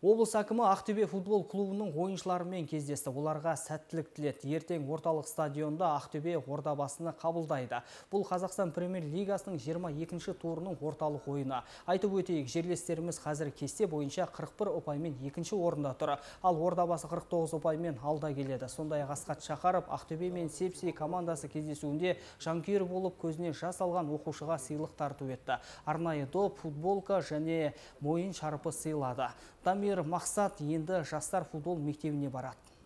Облыс әкімі Ақтөбе футбол клубының ойыншыларымен кездесті. Оларға сәттілік тіледі. Ертең орталық стадионда Ақтөбе Ордабасыны қабылдайды. Бұл Қазақстан Премьер-лигасының 22-ші турының орталық ойыны. Айтып өтейік, жерлестеріміз қазір кесте бойынша 41 ұпаймен екінші орында тұр. Ал Ордабасы 49 ұпаймен алда келеді. Сондай-ақ Асқат Шақаров Ақтөбе мен Сепси командасы кездесуінде жанкүйер болып көзіне жас алған оқушыға сыйлық тарту етті. Арнайы доп, футболка және мойын шарпы сыйлады. Дамир Мақсат енді жастар футбол мектебіне барады.